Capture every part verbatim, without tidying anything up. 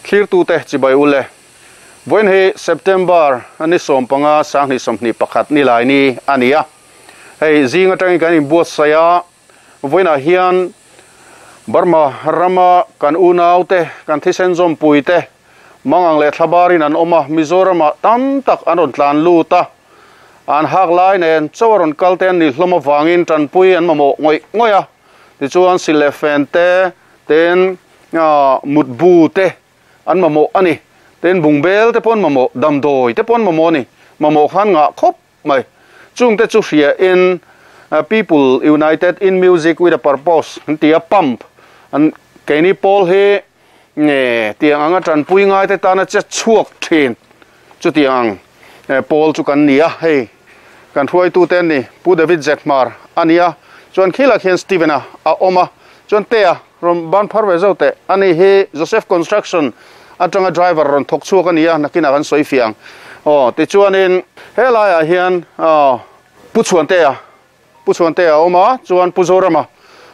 Thlir tu te chibai ule voin he September ani som panga sang ni som ni pakhat ni lai ni ania hei zinga tangi kan in buat saya voina hian Burma rama kan unau te kan thisen zom pui te mangang le thlabarin an oma Mizorama tam tak anon tlan lu ta an hak lai nen chawaron kalten ni hloma wangin tanpui an mamo ngoi ngoya ti chuan silefen te ten mutbu te an mamo ani ten bungbel te pon mamo damdoi te pon mamo ni mamo khan nga khop mai chung te chu hria in People United in Music with a Purpose tia pump an keni pol he nge tiang anga tanpui ngai te tana che chuak thin chu tiang pol chu kan nia hei kan thuai tu ten ni Pu David Zetmar ania chuan khila khian Stevena a oma chuan tea rom ban phar ve zo te ani he Joseph Construction atanga driver ron thok chuak ania nakina kan soi fiang o ti chuanin helai ah hian a pu chuan te a pu chuan te a oma chuan pu Zorama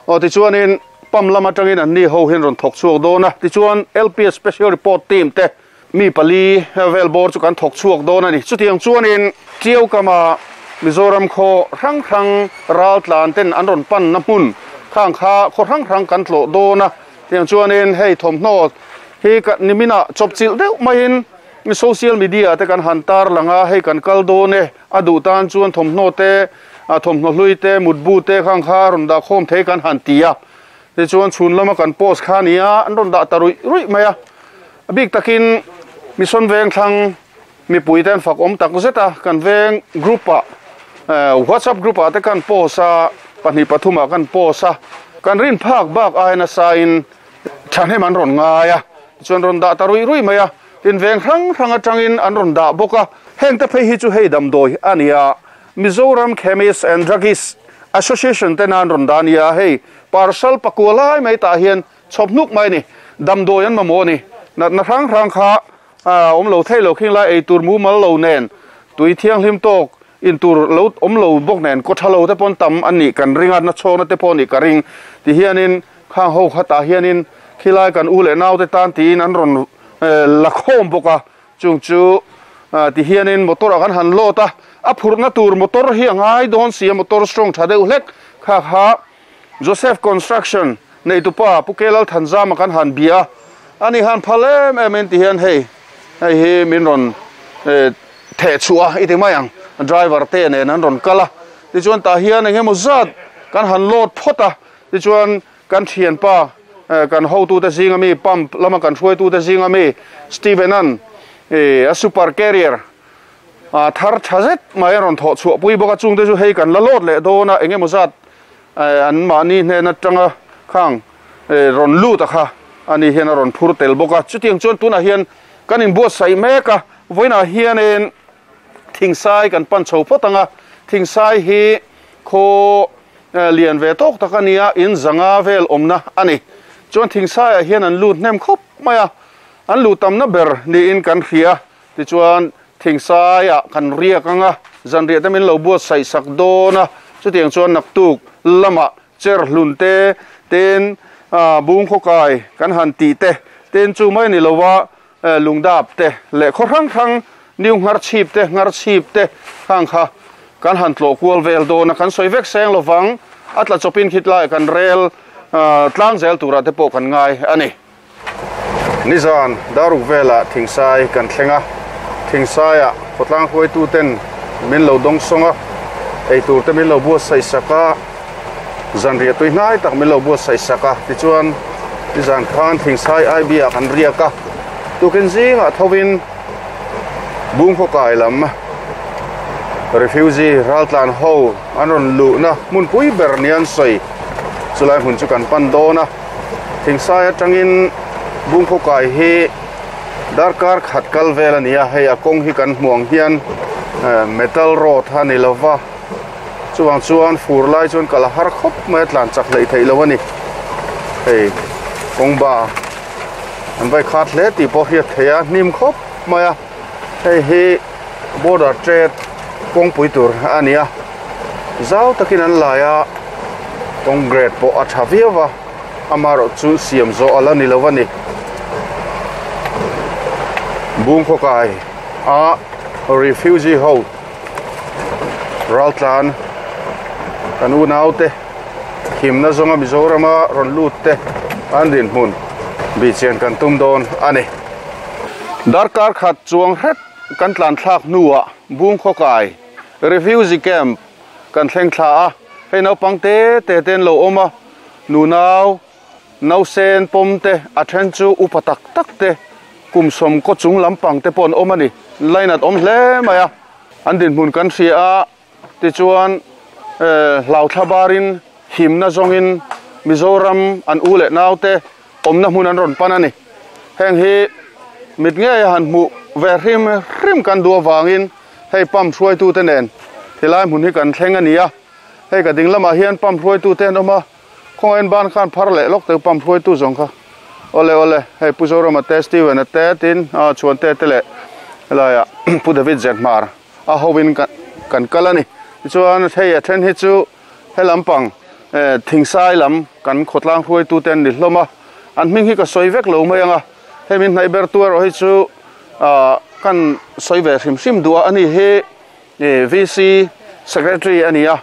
o ti chuanin pam lama tangin an ni ho hin ron thok chuak dona ti chuan L P S Special Report Team te mi pali vel bor chu kan thok chuak dona ni chutiang chuanin chiu kama Mizoram kho rang rang ral tlan ten an ron pan na hmun khang kha kho rang rang kan tlo dona tiang chuanin hei thom hno hi ka nimina chopchil deuh maiin social media te kan hantar langa hei kan kal done adu tan chuan thom hno te a thom hno hlui te mutbu te khang kha ron da khom thei kan han tia ti chuan chhun lama kan post khania an ron da tarui rui maya big takin mission veng thlang mi puiten fak om tak zeta kan veng group a WhatsApp group a te kan post a pahnih pathuma kan post a kan rin phak bak aina sain thane man ron ngaia chuan ron da tarui rui maya tin veng rang rang atangin an ron da boka heng te phei hi chu hei dam doi ania Mizoram Chemists and Druggist Association te nan ron dania hei parcel pakulai mai ta hian chopnuk mai ni dam doi an mamo ni na na rang rang kha om lo thei lo khing lai ei tur mu mal lo nen tui thiang hlim tok in tur lo om lo bok nen ko thalo te pon tam ani kan ringa na chona te pon ni ka ring ti hianin khang ho khata hianin khilai kan u le nau te tan tin an ron lakhom boka chung chu ti hianin motor kan han lota a phurna tur motor hi angai don sia motor strong thadeu hlek kha kha Joseph Construction nei tupa pukelal thanjama kan han bia ani han phalem emen ti hian hei hei hi min ron the chua iti mayang driver te ne nan ron kala ti chuan ta hian engemaw zat kan han lot phota ti chuan kan thian pa kan ho tu te zinga mi pump lama kan hruai tu te zinga mi Stevenan e a super carrier a thar thazet mai ron tho chu pui boka chung te chu hei kan la lot le dona engemaw zat an mani hne na tanga khang ron lu ta kha ani hian ron phur tel boka chutiang chuan tuna hian kan in buat sai meka voina hian en thingsai kan pan chho photanga thingsai hi kho lian ve tok takania in zanga vel omna ani chuan thingsai a hian an lut hnem khop maya an lu tam na ber ni in kan hria ti chuan thingsai a kan riak anga zan ria te min lo buat sai sak dona chutiang chuan naktuk lama cher hlun te ten bung kho kai kan han ti te ten chu mai ni lowa lungdap te le kho rang rang niu ngar chip te ngar chip te khang kha kan han tlo kual vel dona kan soi vek seng lovang atla chopin khitlai kan rel tlang zel tura te po kan ngai ani nizan daruk vela thingsai kan thlenga thingsai a khotlang hoi tu ten min lo dong songa ei tur te min lo buat sai saka zanria tui hnai tak min lo buat sai saka ti chuan nizan khan thingsai ai bia kan riaka tukin zinga thovin bung kho kai lam refugee raltlan ho anon lu na mun pui ber nian soi chulai hun chu kan pan dona thingsai atangin bung kho kai hi darkar khat kal vel ania hei a kong hi kan hmuang hian metal rod hani lova chuang chuan fur lai chuan kala har khop mai tlan chak lei thei lo ani hei kong ba an vai khat hle ti pawh hi theia hnim khop mai a hei hi border trade kong pui tur ania zau takin an laia kong grade pawh a tha viawa amaro chu siam zo ala ni lo ani Bungkhokai a refugee ho raltlan kan u naute himna zonga Mizorama ron lut te an din hmun bi chian kan tum don ani darkar khat chuang het kan tlan thlak nuwa Bungkhokai refugee camp kan thleng thla a hei naupang te te ten lo awma nu nau nau sen pawm te a then chu upa tak tak te kum som ko chung lampang te pawn awm ani line at awm hle mai a an din hmun kan hria a tichuan hlau thlabarin himna zawngin Mizoram an u leh nau te awmna hmun an rawn pan ani heng hi mit nge han hmu ve hrim hrim kan duh awangin hei pam hruai tu te nen tilai hmun hi kan thleng ani a hei ka ding lamah hian pam hruai tu te an awm a khawngain ban khan phar leh lawk te pam hruai tu zawng kha ole ole hei Pu Zorama te Steven a te tin a chuan te te leh helaiah Pu David Zenhmar a hovin kan kal ani tichuan hei a then hi chu he lampang thingsai lam kan khawtlang hruai tu te an ni hlawm a an hming hi ka sawi vek lo mai anga hei min hnaih ber tu erawh hi chu kan sawi ve hrim hrim duh a ani hi V C secretary ani a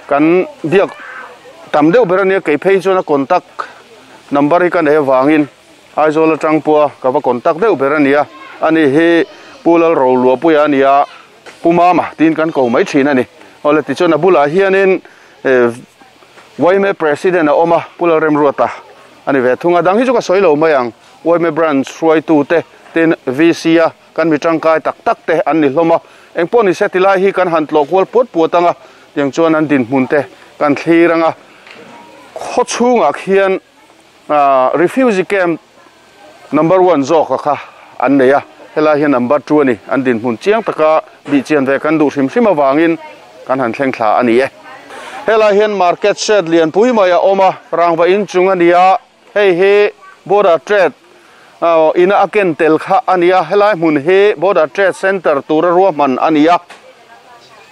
kan biak tam deuh ber ania kei phei chuan a contact number hi kan nei awangin Aizawl atang pawha ka va contact deuh ber ani a ani hi Pu Lalroluapuia ani a Pu Mama tin kan ko mai thin ani awle tichuan a bulah hianin Y M A president a awm a Pu Lalremruata ani ve thunga dang hi chu ka sawi lo mai ang Y M A branch hruai tu te tin V C a kan mi tangkai tak tak te an ni hlawm a engpawh ni se tilai hi kan han tlawh kual puat puat anga tiang chuan an din hmun te kan thlir anga khaw chhungah khian refugee camp number one zawk a kha an nei a helai hian number two ani an din hmun chiang taka bi chian ve kan duh hrim hrim awangin kan han thleng thla ani e helai hian market shed lian pui mai a awm a rangva in chung ani a hei hi border trade ina a ken tel kha ani a helai hmun hi border trade center tura ruahman ani a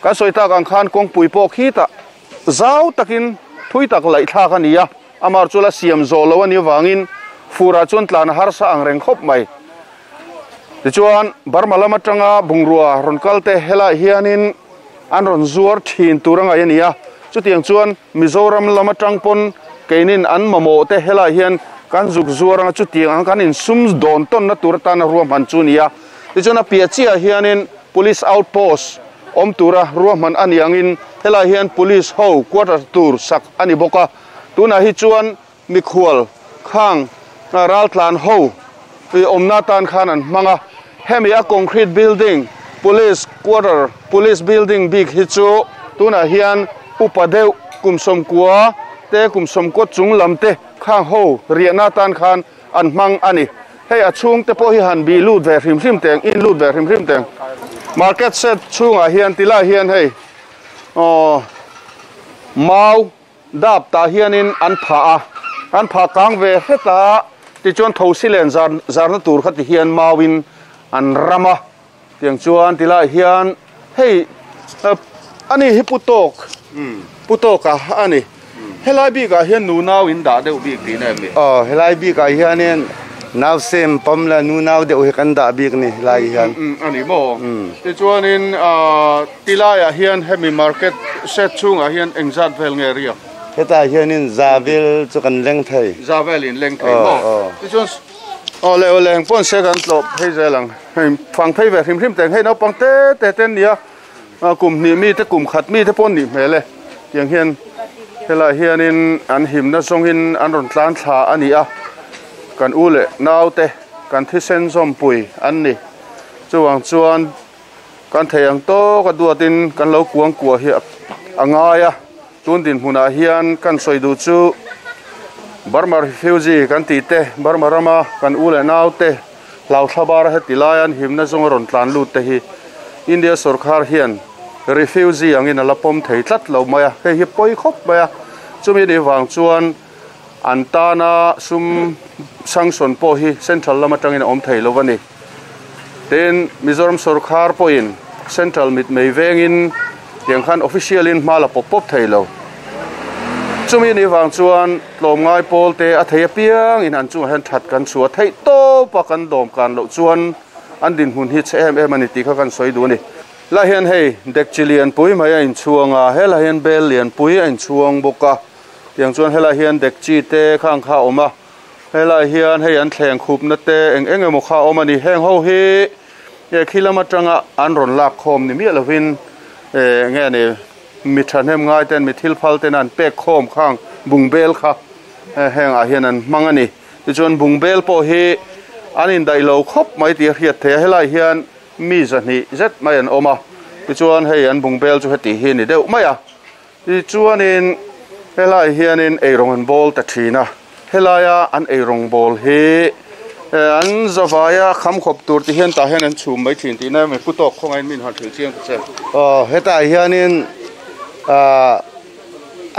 kan sawi tak ang khan kawngpui pawh khi tah zau takin thui tak laih thlak ani a amar chu la siam zawh lo ani awangin fura chuan tlan harsa ang reng khawp mai tichuan Burma lam atanga bungrua rawn kal te helai hianin an rawn zuar thin tur angai ani a chutiang chuan Mizoram lam atang pawn keinin an mamawh te helai hian kan zuk zuar anga chutiang ang kan insum dawn tawn na tur atana ruahman chu ani a tichuan a piah chiah hianin police outpost awm tura ruahman ani angin helai hian police ho quarter tur sak ani bawk a tunah hi chuan mikhual khang raltlan ho awmna tan khan an hmang a hemi a concrete building police quarter police building bik hi chu tunah hian upa deuh kum sawmkua te kum sawmkaw chung lam te khang ho riahna tan khan an hmang ani hei a chhung te pawh hi han bi lut ve hrim hrim teng in lut ve hrim hrim teng market set chhungah hian tilai hian hei aw mau dap tah hianin an phah a an phah kang ve hleta tichuan thosi len zar zarna tur kha ti hian mauin an ram a tiang chuan tilai hian hei ani hi putok putok a ani helai bikah hian nu nau in dah deuh bik tih na em ni aw helai bikah hianin nau sem pawm la nu nau deuh hi kan dah bik ni helai hian ani maw tichuanin tilaiah hian hemi market set chhungah hian engzat vel nge riak hetah hianin zavel chu kan leng thei zavel in leng thei maw tichuan awle awle engpawn se kan tlawh phei zel ang hei fang phei ve hrim hrim teng hei naupang te te te an nia kum hnih mi te kum khat mi te pawh an nih hmel e tiang hian helai hianin an himna zawngin an rawn tlan thla ani a kan u leh nau te kan thisen zawmpui an ni chuwang chuan kan thei ang tawk a duatin kan lo kuang kuah hi a ngai a tun din hmunah hian kan sawi duh chu Burma refugee kan tih te Burma rama kan u leh nau te hlau thlabar heti lai an himna zawnga rawn tlan lut te hi India sarkar hian refugee angin a la pawm thei tlat lo mai a hei hi pawi khawp mai a chumi ni wang chuan an tana sum sanction pawh hi central lam atangin a awm thei lo ani tin Mizoram sarkar pawhin central mit mei vengin tiang khan official in hma la pawp pawp thei lo chumi ni wang chuan tlawm ngai pawl te a thei apiang in an chungah hian that kan chhuah theih tawp a kan dawm kan loh chuan An din hun hi che em em ani ti kha kan soi du ni. La hian hei dek chilian pui mai a in chuanga hela hian bel lian pui a in chuang boka tiang chuan hela hian dek chi te khang kha oma hela hian hei an thleng khup na te eng eng emaw kha awm ani heng ho hi e khilama tanga an rawn lak khawm ni miah lovin e nge ni mi thahnem ngai ten mi thil phal ten an pek khawm khang bungbel kha heng ah hian an hmang ani tichuan bungbel pawh hi an in daih lo khawp mai tih a hriat thei a helai hian mi zahnih zet mai an awm a tichuan hei an bungbel chu heti hi ni deuh mai a tichuanin helai hianin eirawng an bawl ta thin a helaia an eirawng bawl hi an zawaia kham khawp tur ti hian tah hian an chhum mai thin tih na mi pu tawk khawngain min han thil chiang ta che aw hetah hianin a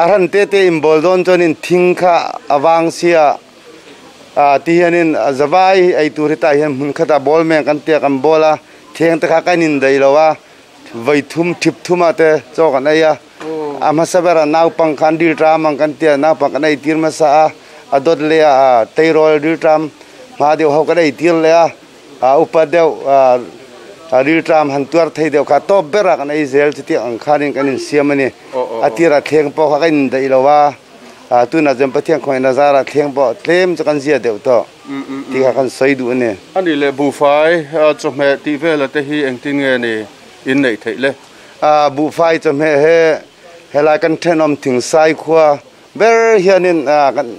a ran te te in bawl dawn chuanin thing kha awang sia a ti hianin zawai ei tur hetah hian hmun khatah bawl meng kan tia kan bawl a theng te kha kan in dei lo a vai thum thip thuma te chaw kan ei a a hmasa bera naupang khan dil tram ang kan tia naupang kan ei tir hmasa a a dawt leh a teirawl dil tram hma deuh ho kan ei tir leh a a upa deuh a dil tram han tuar thei deuh kha tawp bera kan ei zel chuti ang khanin kan in siam ani a tira thleng pawh kha kan in daih lo a a tuna chuan Pathian khawngaih nazara thleng pawh tlem chu kan zia deuh tawh ti kha kan sawi duh ani ani le buhfai chawhmeh tih vela te hi engtin nge ni in neih theih le a buhfai chawhmeh he helai kan thenawm thingsai khua ber hianin a kan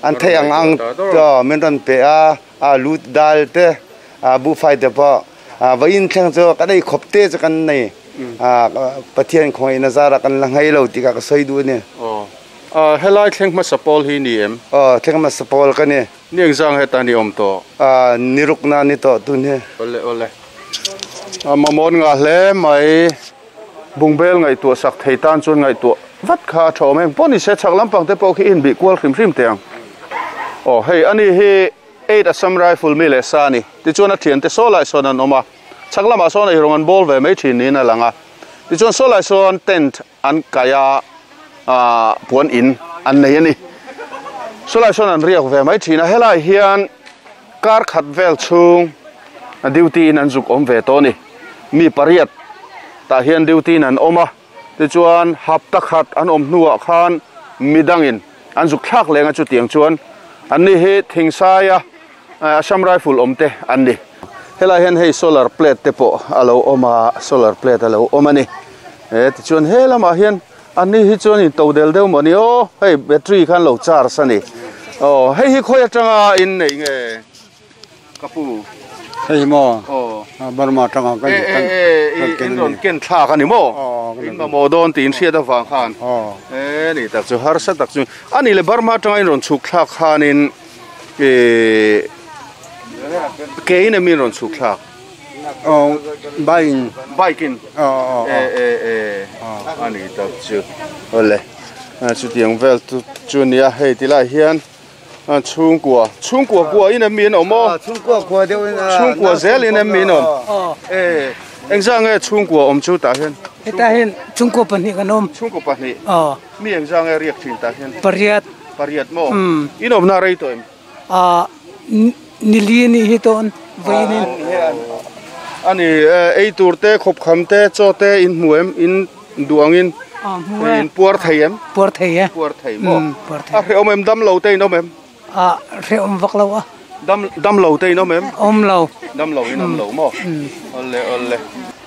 an thei ang ang min rawn pe a a lut dal te a buhfai te pawh a vain thleng chu kan ei khawp te chu kan nei a Pathian khawngaih nazara kan la ngai lo ti kha ka sawi duh ani a helai thleng hmasa pawl hi ni em aw thleng hmasa pawl ka ni ni engzang heta ni awm tawh a niruk na ni tawh tun hi ole ole a mamawt nga hle mai bungbel ngaihtuah sak thei tan chuan ngaihtuah vat kha a tha awm em pawh ni se chhak lampang te pawh khi in bih kual hrim hrim te ang aw hei ani hi eight Assam Rifle mi leh sa ani tichuan a thian te saw lai sawn an awm a chhak lamah sawn eirawng an bawl ve mai thin niin a lang a tichuan saw lai sawn tent an kai a puan in an nei ani saw lai sawn an riak ve mai thin a helai hian kar khat vel chhung a duty in an zuk awm ve tawh ni mi pariat tah hian duty in an awm a tichuan hapta khat an awm hnuah khan midangin an zuk thlak lenga chu tiang chuan an ni hi thingsaia Assam Rifle awm te an ni helai hian hei solar plate te pawh a lo awm a solar plate a lo awm ani e tichuan he lamah hian an ni hi chuan in to del deuh mawni aw hei battery khan lo charge ani aw hei hi khawi atanga in nei nge kapu hei mo aw Burma tanga kan e e e in rawn ken thlak ani maw in mamawh dawn tiin hriat avang khan e ni tak chu harsa tak chu ani le Burma tanga in rawn chhuk thlak khanin e ke in em in rawn chhuk thlak aw bike bike in aw e e e ani tak chu ole chu tiang vel chu chu nia hei tilai hian chhungkua chhungkua kua in em min awm aw chhungkua khua deuh in chhungkua zel in em min awm e engzang nge chhungkua awm chu tah hian hetah hian chhungkua pahnih kan awm chhungkua pahnih aw mi engzang nge riak thin tah hian pariat pariat maw in awm na rei tawh em a nili ni hi tawn vainin ani ei tur te khawp kham te chaw te in hmu em in duangin in puar thei em puar thei e puar thei maw puar thei a hre awm em dam lo te in awm em a hre awm vak lo a dam dam lo te in awm em awm lo dam lo in awm lo maw ole ole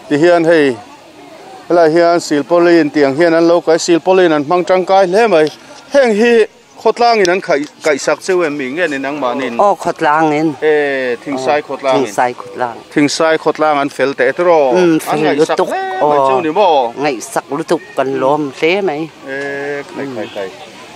ti hian hei helai hian silpaulin tiang hian an lo kai silpaulin an hmang tangkai hle mai heng hi khawtlang in an khai kai sak cheu em mi nge ni nang manin aw khawtlang in e thingsai khawtlang in thingsai khawtlang thingsai khawtlang an fel te tro an ngai sak mai cheu ni maw ngai sak lutuk kan lawm hle mai e khai khai khai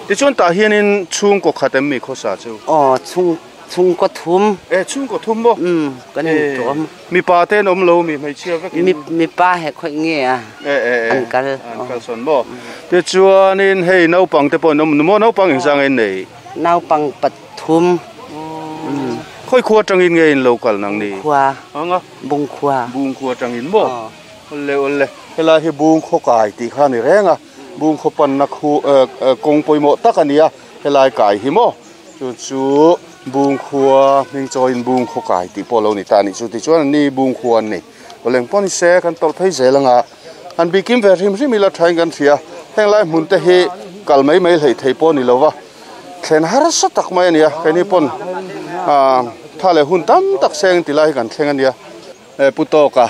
ti chuan tah hianin chhungkaw khat em mi khawsa chu aw chhung chhungkaw thum e chhungkaw thum maw um kan in tuam mi pa te an awm lo mi hmeichhia vekin mi mi pa he khoi nge a e e an kal an kal sawn maw ti chuanin hei naupang te pawh an awm maw naupang engzang in nei naupang pathum khoi khua tangin nge in lo kal nang ni khua anga bung khua bung khua tangin maw ole ole helai hi bung khaw kai tih kha ni reng a bung khaw pan na khu kawng pawimawh tak ani a helai kai hi maw chu chu Bung khua ming chaw in bung kho kai ti polo ni ta ni chu ti chuan ni bung khuan ni oleng pon se kan tol phei zelanga an bikim ve rim rim ila thain kan thia heng lai hmun te hi kalmei mei hlei thei pawh ni lova thlen har sa tak mai ania keni pon a thale hun tam tak seng ti lai kan thleng ania e putoka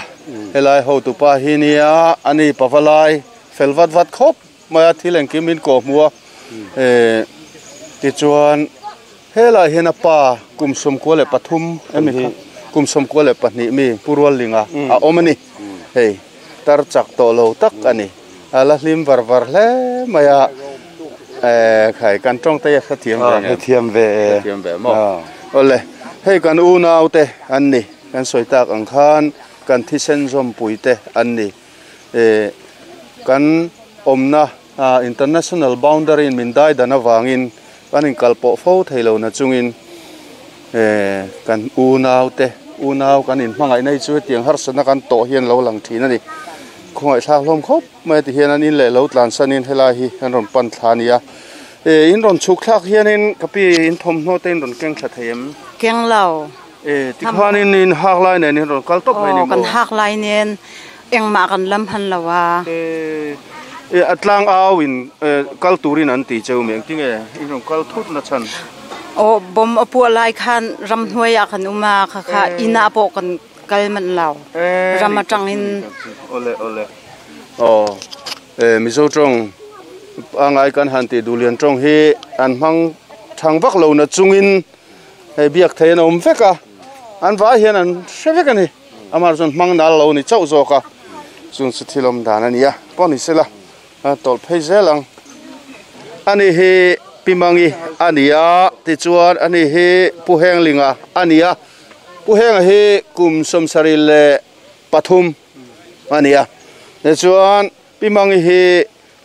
helai ho tu pa hi nia ani pavalai felvat vat khop maya thileng kimin ko muwa e ti chuan helai hian a pa kumsum ko le pathum emi kha kumsum ko le pahnih mi purwal linga a awm ani hei tar chak to lo tak ani ala hlim var var hle maya eh khai kan tong te kha thiam ve thiam ve thiam ve mo ole hei kan u nau te an ni kan soi tak ang khan kan thi sen zom pui te an ni e kan omna international boundary in min dai dana wangin kan in kalpo fo thailo na chungin e kan u nau te u nau kan in hmangai nei chu tiang har sana kan to hian lo lang thin ani khongai thla hlom khop mai ti hian an in le lo tlan sanin helai hi an ron pan thlania e in ron chuk thlak hianin kapi in thom hno te in ron keng thla theim keng lo e ti khanin in hak lai nen in ron kal top mai ni mo kan hak lai nen engma kan lam han lawa e e atlang aw in kal turin an ti cheu meng tinge in ron kal thut na chan o bom apu lai khan ram hnuai a khan uma kha kha ina po kan kal man lo ram atang in ole ole o e mizo tong angai kan han ti dulian tong hi an mang thang vak lo na chungin hei biak thein awm veka an vai hian an hre vek ani amar chuan hmang nal lo ni chauh zawk a chung chu thilawm dan ania pawh ni sela a tawlh phei zel ang ani hi pimangi ania tichuan ani hi puhenglinga ania puhenga hi kum sawmsarih le pathum ania tichuan pimangi hi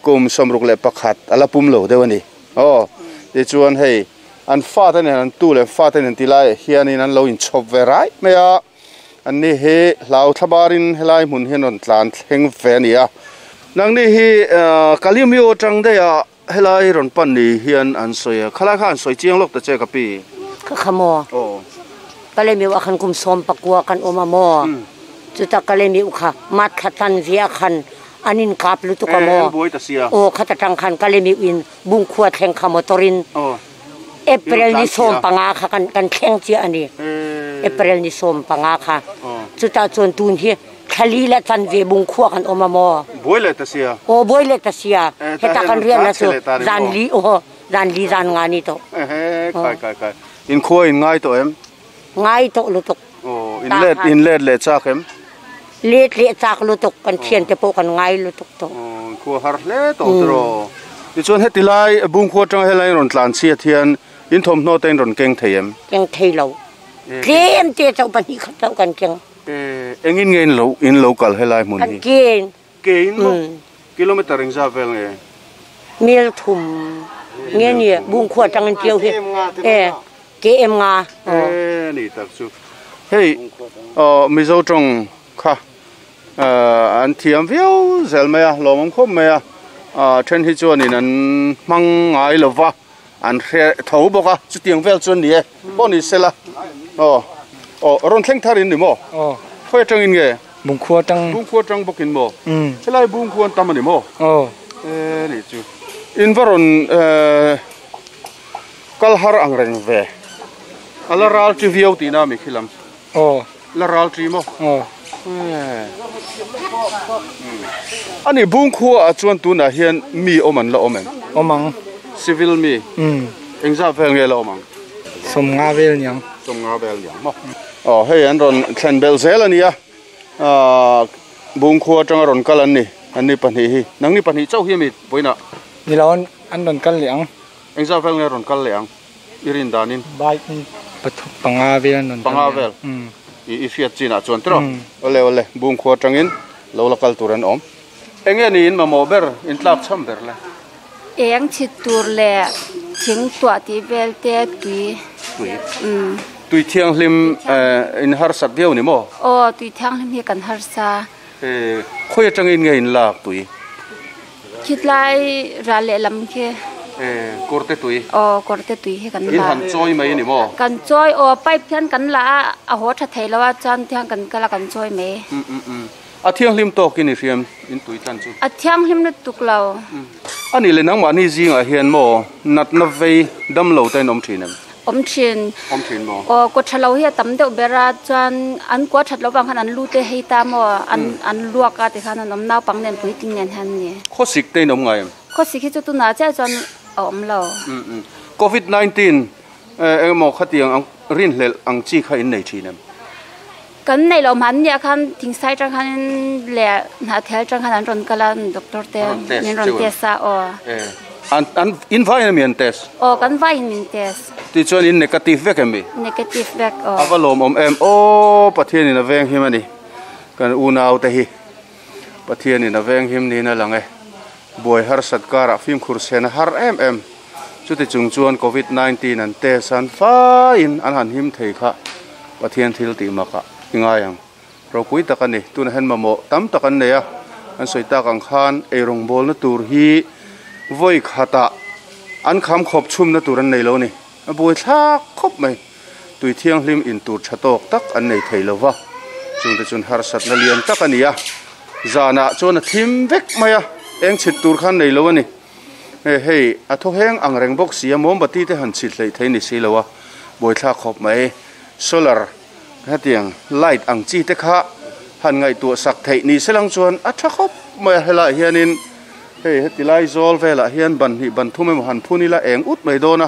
kum sawmruk le pakhat ala pum lo deuh ani aw tichuan hei an fa te nen an tu le fa te nen tilai hianin an lo inchhawp ve rai mai a an ni hi hlau thlabarin helai hmun hian rawn tlan thleng ve ani a nang ni hi kalimio tang deiah helai rawn pan ni hian an sawi a khalai kha an sawi chiang lawk ta che kapi kha khamo aw kalemi wa khan kum som pakua kan oma mo chuta kalemi ukha mat khatan via khan anin kap lu tu ka mo o khata tang khan kalemi in bung khua thleng kha motorin April ni som panga kha kan kan thleng chi ani April ni som panga kha chuta chon tun hi khali la chan ve bung khua kan oma mo boi le ta sia o boi le ta sia heta kan rian na chu zan li o zan li zan nga ni to he kai kai kai in khua in ngai to em ngai to lu tuk o in let in let le chak em let le chak lu tuk kan thian te po kan ngai lu tuk to o khua har hle to tro ti chuan heti lai bung khua tang helai ron tlan chi thian in thom hno ten ron keng theim keng thei lo tlem te chau pan hi khat chau kan keng e engin ngein lo in local helai hmun hi kan ke in mo kilometer ring za vel nge mil thum nge ni bung khua tang an tiau hi e ke em nga e ni tak chu hei o mizo tong kha an thiam viau zel mai a lomam khop mai a then hi chuan in an mang ngai lova an hre tho bawk a chutiang vel chuan ni e pawh ni sela o o ron thleng tharin ni mo o khoi tangin nge bung khua tang bung khua tang bawkin mo helai bung khuan tam ani mo o e ni chu in varon kal har ang reng ve ala ral chi viau ti na mi khilam o la ral chi mo o ani bung khua a chuan tuna hian mi oman la omen omang civil mi um engza vel nge la omang som nga vel nyang som nga vel nyang mo o hei an ron thlen bel zel ania a bung khua tang ron kal an ni an ni pahnih hi nang ni pahnih chau hi mi poina ni lawn an ron kal liang engza vel nge ron kal liang irin danin bike pathu panga vel an panga vel um i i fiat china chuan tro ole ole bung khua tangin lo la kal turan om enge ni in mamo ber in tlak cham ber la eng chi tur le thing tua ti vel te tui tui um tui thiang hlim in har sat viau ni mo o tui thiang hlim hi kan har sa e khoi tangin nge in lak tui khitlai ra le lam khe Eh korte tui o korte tui hi kan in la han choi mai ni mo kan choi o pipe hian kan la a ho tha thei lo a chan thiang kan kala kan choi mai um um um a thiang hlim to kin ni hriam in tui tan chu a thiang hlim na tuk lo ani le nang ma ni zinga hian mo nat na vei dam lo ten om thin em om thin om thin mo o ko thalo hi tam deuh bera chuan an ko that lo wang khan an lu te hei ta mo an an luak a te khan an om nau pang nen pui ting nen han ni kho sik te nom ngai em kho sik hi chu tu na cha chuan om lo um um covid nineteen eh mo khatiang ang rin hlel ang chi kha in nei thin em kan nei lo man nia khan thing sai tang khan le na thel tang khan an ron kalan doctor te nen ron test sa o eh an an in vai na mian test o kan vai min test ti chuan in negative vek em mi negative vek o avalom om em o pathian in a veng him ani kan unau te hi pathian in a veng him ni na lang e boi har satkara phim khur sen har em em chuti chung chuan covid nineteen an test an fa in an han him thei kha pathian thil ti maka ingayang ropui takani tun hen mamo tam takan neya an soita kang khan erong bol na tur hi voi khata an kham khop chhum na tur an nei lo ni a boi thla khop mai tui thiang hlim in tur thatok tak an nei thei lova chung te chun har sat na lian tak ania zana chuan a thim vek maya eng chhit tur khan nei lo ani he hei a tho heng ang reng bawk sia mombati te han chhit hlei thei ni si lowa boi thla khop mai solar hetiang light ang chi te kha han ngai tu sak thei ni selang chuan a tha khop mai hela hianin hei heti lai zol vela hian ban hi ban thume han phuni la eng ut mai dona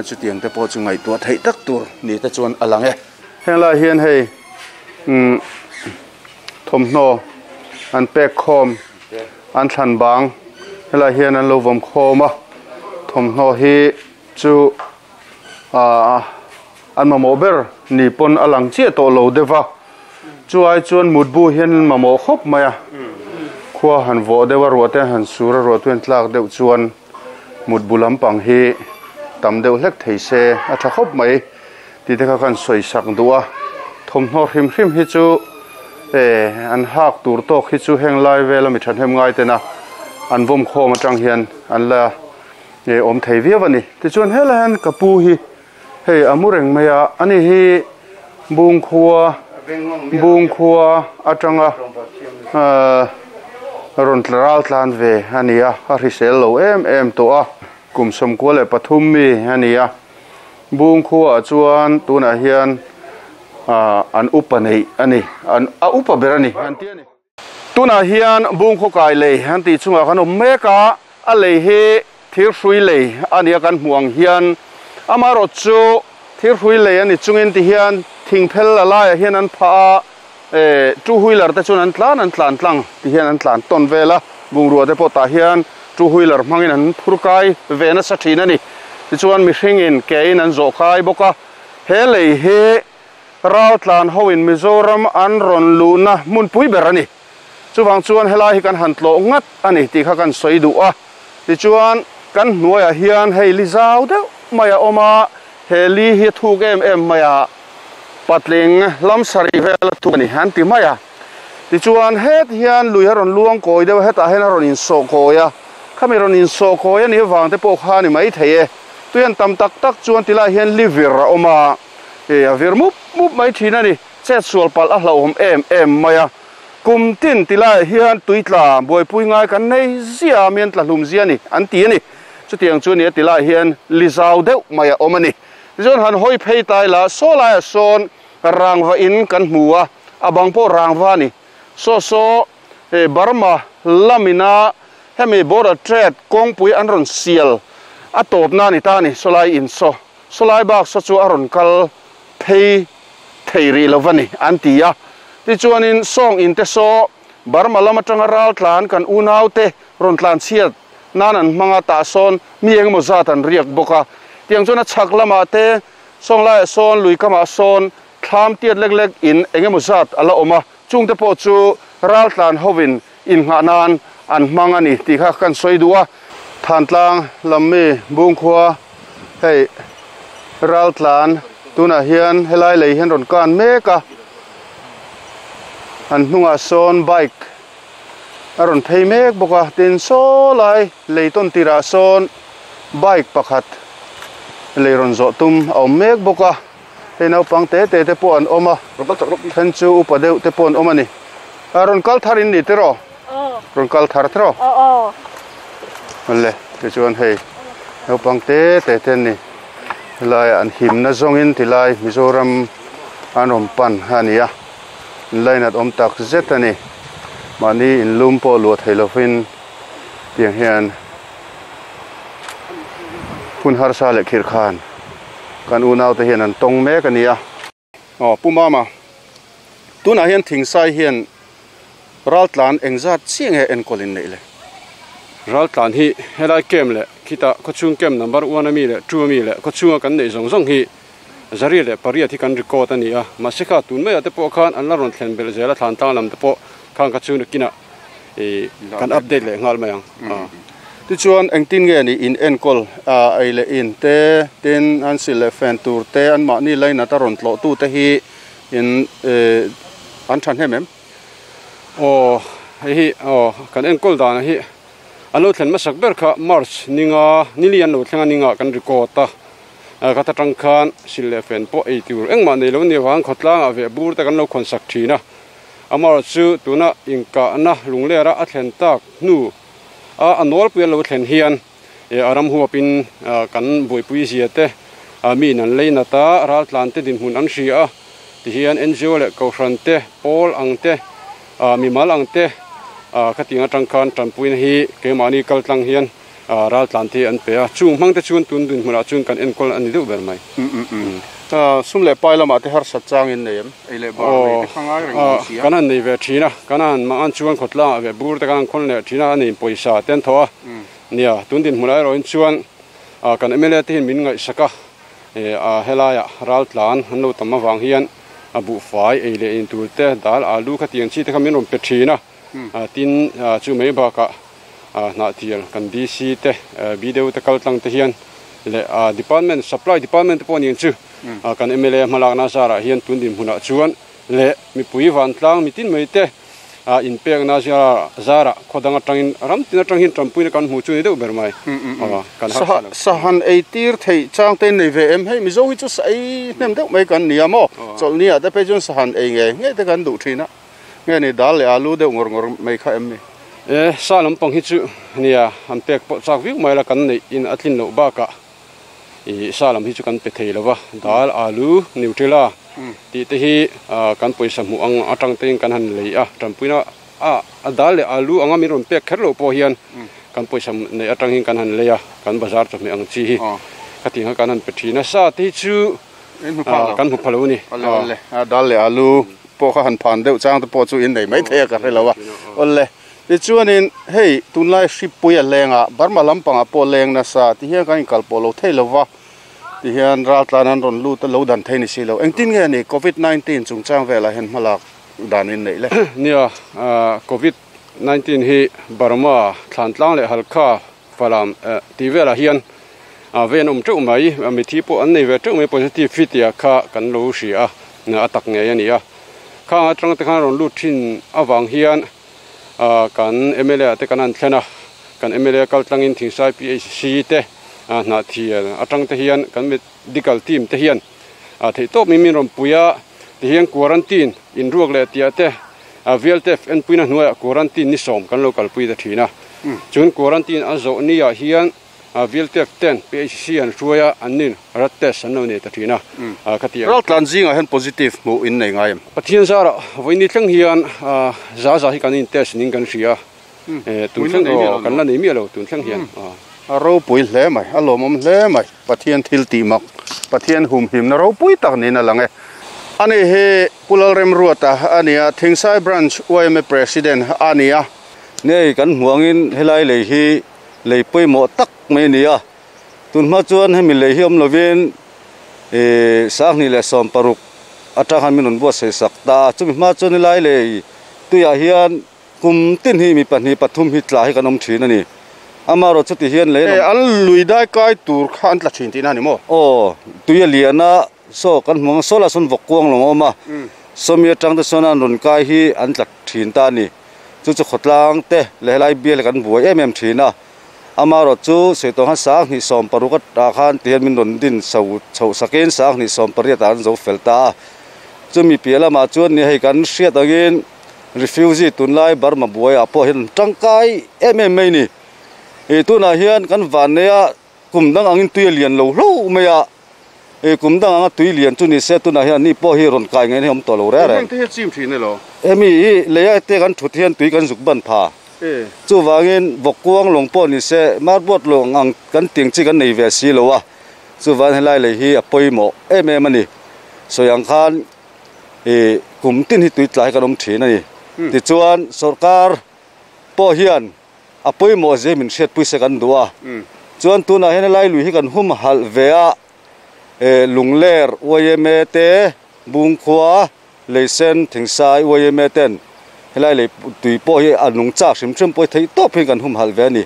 chutiang te pawh chu ngai tu thei tak tur ni te chuan alang e hela hian hei um thomhno an pek khom an thlan bang hela hian an lo vom khoma thomhno hi chu a an mamo ber ni pon alang che to lo dewa chuai chuan mutbu hian mamo khop maya khua han vo dewa ruate han sura ruatuen tlak deuh chuan mutbu lampang hi tam deuh hlek thei se a tha khop mai ti te kha kan soi sak duwa thomhno hrim hrim hi chu e an hak tur tok hi chu heng lai vela mi than hem ngai te na an vom khom atang hian an la e om thei viau ani ti chuan hela han kapu hi hei amureng maya ani hi bung khua bung khua atanga ron tlaral tlan ve ania a hrisel lo em em to a kum som ko le pathum mi ania bung khua chuan tuna hian an upa nei ani an a upa berani an ti ani tuna hian bung kho kai lei han ti chunga kan om meka a lei he thir hrui lei ania kan hmuang hian amaro chu thir hrui lei ani chungin ti hian thingphel la lai hian an pha e two wheeler te chuan an tlan an tlan tlang ti hian an tlan ton vela bungrua te pawh tah hian two wheeler hmangin an phurkai ve nasa thin ani ti chuan mihring in ke in an zawh kai bawk a he lei hi ral tlan hoin Mizoram an ron lu na hmunpui ber ani chuwang chuan helai hi kan han tlo ngat ani ti kha kan sawi duh a ti chuan kan hnuaiah hian hei li zau deuh maya oma heli hi thuk em em maya patling lam sari vel thu ani han ti maya ti chuan het hian lui ron luang koi deuh hetah hian ron in so koya khami ron in so koya ni wang te pawh kha ni mai thei e tuian tam tak tak chuan tilai hian livir a awma e a vir mup mup mai thin ani chet sual pal a hlauhawm em em maya kum tin tilai hian tuitla buaipui ngai kan nei zia mian tla hlum zia ni an ti ani chutiang chu ni tilai hian li zau deuh maya awm ani chuan han hoi phei tai la saw lai a sawn rangva in kan hmua a bang pawh rangva ni so so e Burma lamina hemi border trade kawngpui an rawn sial a tawp na ni ta ni sawlai in saw sawlai bak saw chu a rawn kal phei thei ri lo ani an ti a ti chuanin sawng in te saw Burma lam atanga ral tlan kan unau te rawn tlan chhiat nan an hmanga tah sawn mi engemaw zat an riak bawk a tiang chuan a chhak lamah te sawng laiah sawn lui kamah sawn thlam tiat lek lek in engemaw zat ala awm a chung te pawh chu ral tlan hovin in nghah nan an hmang ani ti kha kan sawi duh a thantlang lammi bungkhua hei ral tlan tunah hian helai lei hian rawn kan mek a an hnungah sawn bike a rawn phei mek bawk a tin saw lai lei tawn tirah sawn Bike pakhat leiron zo tum a awm mek bawk a hei naupang te te te pawh an awm a then chu upa deuh te pawh an awm a ni a rawn kal thar in ni tiraw rawn kal thar tiraw le tichuan hei naupang te te te an ni helai an himna zawngin tilai Mizoram an rawn pan a ni a line at awm tak zet a ni mahni in lum pawh luah thei lovin tiang hian hun harsa leh khir khan kan unau te hian an tawng mek a ni a aw pu mama tunah hian thingsai hian raltlan engzat chiah nge enkawl in neih le raltlan hi helai kem le khita khawchhung kem number one ami leh two ami leh khawchhunga kan neih zawng zawng hi zari leh pariat hi kan record a ni a mahse kha tun mai ah te pawh khan an la rawn thlen belh zel a thlan tlang lam te pawh khang kha chu nakinah ih kan update leh nghal mai ang tichuan engtin nge ni in enkawl a ei leh in te tin an sil leh fen tur te an mahni line ata rawn tlawh tu te hi in an tha hnem em aw hei hi aw kan enkawl dan hi an lo thlen hmasak ber kha March ninga nili an lo thleng a ninga kan record a ka ta tang khan sil leh fen pawh ei tur engmah nei lo ni wang khawtlang ah ve bur te kan lo khawn sak thin a amar chu tuna inka na lunglera a thlen tak hnu a anol pui lo thlen hian e aram huapin kan buipui zia te mi nan leina ta raltlan te din hmun an hria a ti hian N G O leh kohhran te pawl ang te mi mal ang te khatinga atang khan tanpuina hi keimahni kal tlang hian raltlan te an pe a chung hmang te chuan tun dun hmunah chuan kan enkawl ani deuh ber mai sum leh pai lamah te har sat chang in nei em ei leh bar nei te khangai reng awm si a kan han nei ve thin a kan han mang an chuan khawtlang ah ve bur te kan han khawn leh thin a ani pawisa te an thaw a nia tun din hmunah erawhin chuan kan M L A te hian min ngaihsak a a helaiah raltlan an lo tam avang hian a buhfai ei leh in tur te dal alu khatiang chi te kha min rawn pe thin a tin chu mai bakah hnah thial kan D C te B deuh te kal tlang te hian le department supply department te pawh ni ang chu kan M L A hmalakna zarah hian tun din hmunah chuan le mipui van tlang mitin mai te in pekna zara khawdang atangin ram tin atang hian tampuina kan hmu chu ni deuh ber mai kan sahan ei tir thei chang te nei ve em hei Mizo hi chu sa ei hnem deuh mai kan nia maw chawlhni ah te phei chuan sahan ei nge nge te kan duh thin a nge ni dal leh alu deuh ngawr ngawr mai kha em ni e sa lampang hi chu nia an pek pawh chak viau mai la kan nei in a tlin loh bakah i sa lam hi chu kan pe thei lova dal alu Nutella ti te hi kan pawisa hmuh ang atang tein kan han lei a tanpuina a a dal leh alu anga min rawn pek kher lo pawh hian kan pawisa nei atang hin kan han lei a kan bazar chawhmeh ang chi hi khatinga kan han pe thin a sa te hi chu kan hmu phalo ni ole a dal leh alu pawh kha han phan deuh chang te pawh chu in nei mai thei a ka hrelo a ole tichuanin hei tunlai hripui a lenga Burma lampangah pawh leng nasa ti hian kan inkal pawh lo thei lova ti hian raltlan an rawn lut a lo dan thei ni si lo engtin nge ni covid nineteen chungchang velah hian hmalak dan in neih le nia covid nineteen hi Burma thlantlang leh halkha falam ti velah hian ven awm teuh mai mithi pawh an nei ve teuh mai positive fit tia kha kan lo hria a a tak ngei ani a khang atang te khan rawn lut thin awang hian kan M L A te kan an thlen a kan M L A kal tlangin Thingsai P H C te hnah thial atang te hian kan medical team te hian thei tawp mi min rawn puia ti hian quarantine in ruak leh tia te V L T F en puina hnuaiah quarantine ni sawm kan lo kalpui ta thin a chuan quarantine a zawh ni ah hian V L T F ten P H C an hruaia an nin rat test an lo nei ta thin a khati raltlan zingah hian positive hmuh in nei ngai em Pathian zara voini thleng hian za za hi kan in test ning kan hria tun thleng kan la nei mi lo tun thleng hian a ropui hle mai a lawmawm hle mai Pathian thil ti mak Pathian hum him na ropui tak niin a lang e ani hi Pulal Remruata ania Thingsai branch Y M A president ania nei kan hmuangin helai lei hi lei pawimawh tak mai ni a tun hma chuan hemi lei hi awm lovin e sanghnih leh sawm paruk atang han min rawn buatsaih sak ta chumi hma chuan helai lei tuiah hian kum tin hi mi pahnih pathum hi tla hi kan awm thin ani amaro chuti hian lei an lui dai kai tur kha an tla thin tih na ni maw aw tuia liana so kan hmuang sola sawn vawk kuang lo awm a sawmi atang te sawn an rawn kai hi an tla thin ta ani chu chu khawtlang te leh helai bial kan buai em em thin a Amaro chu seito han sang ni som paruka ta khan tian min ron din so chho sakin sang ni som pariat an zo felta chumi piala ma chuan ni hei kan hriat angin refugee tunlai Burma buai apo hin tangkai em em mai ni e tuna hian kan vanea kumdang angin tui lian lo hlo meia e kumdang anga tui lian chu ni se tuna hian ni po hi ron kai ngai ni om to lo re re te hi chim thin lo emi i leia te kan thut hian tui kan zuk ban pha chu wangin vokuang long po ni se marbot lo ngang kan ting chi kan nei ve si lo wa chu wan helai le hi apoi mo em em ani soyang khan e kum tin hi tui tlai kan om thin ani ti chuan sarkar po hian apoi mo je min hriat pui se kan duwa chuan tuna hen lai lui hi kan hum hal vea e lungler oyeme te bungkhua leisen thingsai oyeme ten helai le tui po hi anung chak hrim hrim poi thei top hi kan hum hal ve ani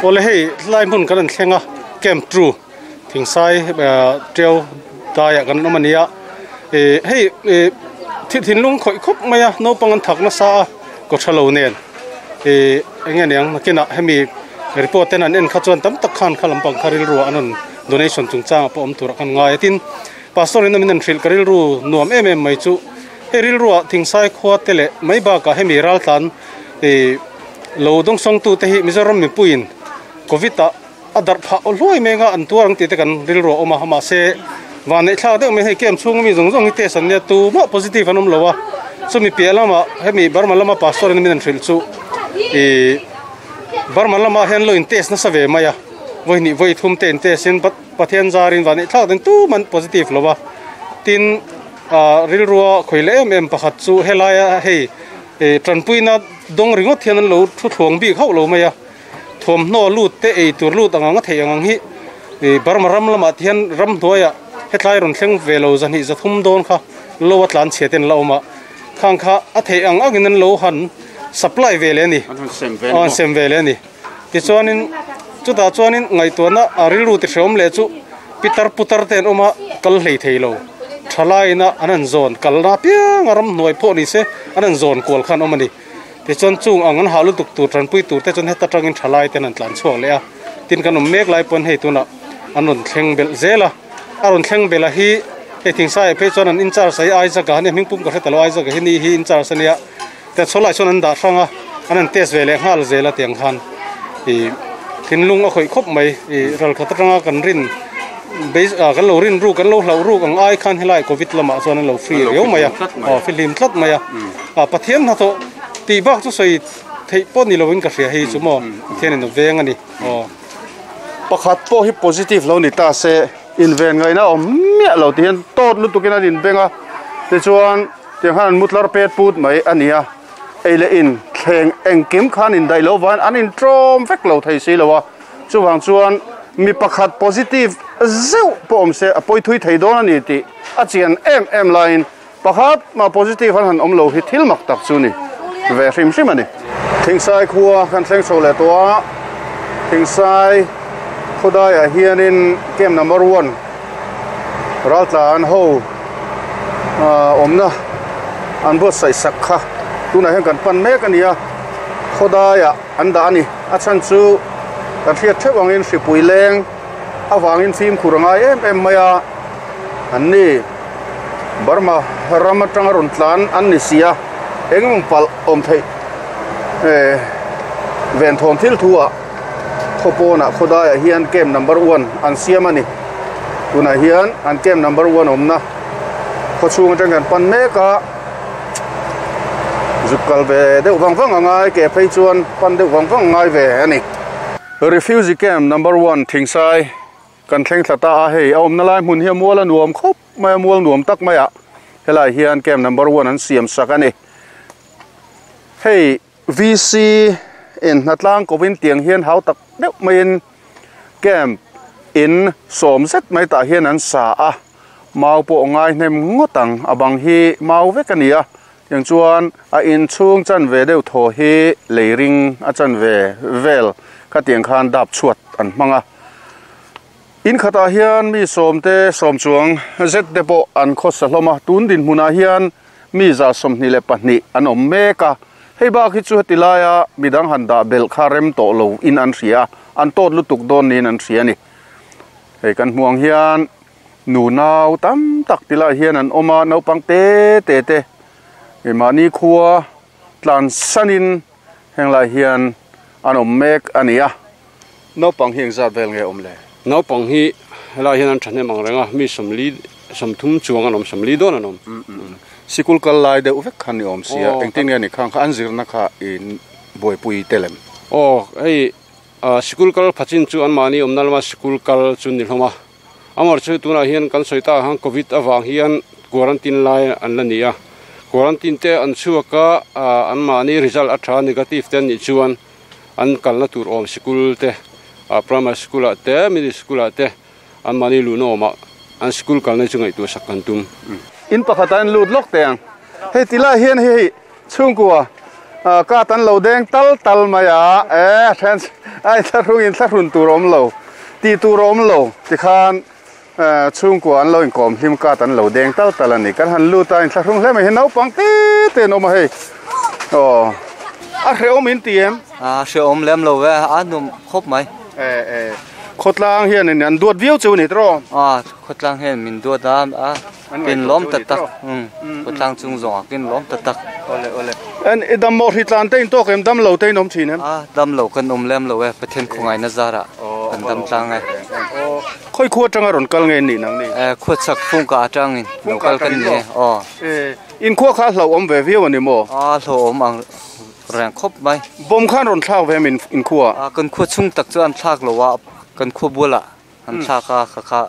ole hei lai mun kan thlenga camp true thingsai treo daya kan omania e hei thi thinlung khoi khop maya no pangan thakna sa ko thalo nen e enge niang nakina hemi report ten an en kha chuan tam tak khan khalam pang kharil ru anon donation chungchang pawm tur kan ngai tin pastor in min thril karil ru nuam em em mai chu heril ru thingsai khwa tele mai ba ka hemi ral tlan e lo dong song tu te hi Mizoram mi puin covid ta adar pha oloi menga an tuang ti te kan ril ru oma hama se wan nei thla deuh mai hei kem chung mi zong zong hi te san nia tu ma positive anom lowa chu mi pialama hemi Burma lama pastor in min thril chu e Burma lama hen lo in test na save maya voi ni voi thum ten test in pathian zarin wan nei thla den tu man positive lowa tin a ril ruwa khoile em em pakhat chu helaya hei e tranpuina dong ringot hian an lo thu thuang bi khau lo maya thom no lut te ei tur lut anga thei ang hi e Burma ram lama thian ram hnuaia hetlai ron thleng velo zan hi zathum don kha lo atlan cheten la oma khang kha a thei ang angin an lo han supply ve le ni an sem ve le ni ti chuanin chuta chuanin ngai tuana a rilru ti hreom le chu pitar putar ten oma kal hlei thei lo thalaina anan zon kalna piang ram hnuai pawh ni se anan zon kual khan awm ani ti chuan chung ang an halu tuk tur tranpui tur te chuan heta tangin thalai ten an tlan chhuak le a tin kan awm mek lai pawn hei tuna an rawn thleng belh zel a a rawn thleng bela hi hei thingsai phei chuan an in charge ai ai zaka hani hming pum ka hre talo ai zaka hi ni hi in charge ania te chholai chuan an dah hranga an an test ve leh nghal zel a tiang khan i thinlung a khawih khawp mai i ral khat atanga kan rin base a kan lo rin ru kan lo hlau ru ang ai khan helai covid lama chuan an lo free riau mai a aw filim tlat mai a a pathian na tho ti bak chu soi thei pawh ni lovin ka hria hei chu maw pathian in a veng ani aw pakhat pawh hi positive lo ni ta se in ven ngai na awm miah lo ti hian tawt lutukin an inbenga ti chuan tiang khan an mutlar pet put mai ania ei le in thleng engkim khan in daih lo van an in tawm vek lo thei si lo a chuwang chuan mi pakhat positive zeu pawh awm se a pawi thui thei dawn ani tih a chian em em laiin pakhat ma positive an han awm lo hi thil mak tak chu ni ve hrim hrim ani thingsai khua kan thleng chho leh tawh a thingsai khawdaiah hianin camp number one ral tlan ho awmna an buatsaih sak kha tunah hian kan pan mek ani a khawdaiah an dah ani a chhan chu kan hriat theuh angin hripui leng awangin fim khur angai em em mai a an ni Burma ram atanga rawn tlan an ni si a engemaw palh awm theih e ven thawm thil thu ah khawpawnah khawdaiah hian camp number one an siam ani tunah hian an camp number one awmna khawchhung atang kan pan mek a zuk kal ve deuh vang vang angai ke phei chuan pan deuh vang vang ngai ve ani refugee camp number one thingsai kan thleng thla ta a hei a awmna lai hmun hi a mual a nuam khawp mai a mual nuam tak mai a helai hian camp number one an siam sak ani hei V C in hnatlang kovin tiang hian hau tak deuh maiin camp in sawm zet mai tah hian an sa a mau pawh ngai hnem ngawt ang a bang hi mau vek ani a tiang chuan a inchhung chan ve deuh thaw hi leiring a chan ve vel kha tiang khan dap chhuat an hmang a in khatah hian mi sawm te sawm chuang zet te pawh an khawsa hlawm a tun din hmunah hian mi za sawmhnih leh pahnih an awm mek a hei bak hi chu heti laia midang han dah belh kha rem tawh lo in an hria An tot lutuk don nin an hria ni. Hei kan hmuang hian nu nau tam tak tila hian an oma naupang te te te mani khua tlan sanin henglai hian an awm mek ania. Naupang hi engzat vel nge awm le? Naupang hi helai hian an thahnem ang renga mi sawmli sawmthum chuang an awm sawmli dawn an awm. Sikul kal lai deuh vek khan ni awm sia engtin nge ni khang kha an zirna kha in buaipui telem. Aw hei sikul kal phachin chu an mani awm na lama sikul kal chu ni hlawm a. Amar chu tunah hian kan sawi ta hang covid awang hian quarantine lai an la ni a. Quarantine te an chhuaka an mani result a tha negative te ni chuan an kalna tur awm sikul te primary school a te middle school a te an mani lu no ma an school kalna chu ngai tu sak kan tum. In pakhatan lut lok te ang. Hei tila hian hei chhungkua ka tan lo deng tal tal maya e then ai tharung in tharun tur awm lo ti tur awm lo ti khan chhungkua an lo in kom hlim ka tan lo deng tal tal ani kan han lut a in tharung hle mai hi naupang te te no ma hei. Oh a hreawm in ti em? A hreawm lem lo ve a num khawp mai. E e khawtlang hian in an duat viau chu ni tro. A khawtlang hian min duat a a kin lawm tak tak khawtlang chung zawng a kin lawm tak tak. Ole ole en idam mo hitlan te in tok em dam lo te in awm thin em? A dam lo kan awm lem lo e Pathian khawngai na zara kan dam tlang e. Khoi khua tanga ron kal nge ni nang ni? E khua chak phung ka atangin lo kal kan ni o. E in khua kha hlo awm ve viau ani mo? A hlo awm ang reng khawp mai. Bom khan ron thlak ve min in khua? A kan khua chung tak chu an thlak lo a kan khua bula an thlak a kha kha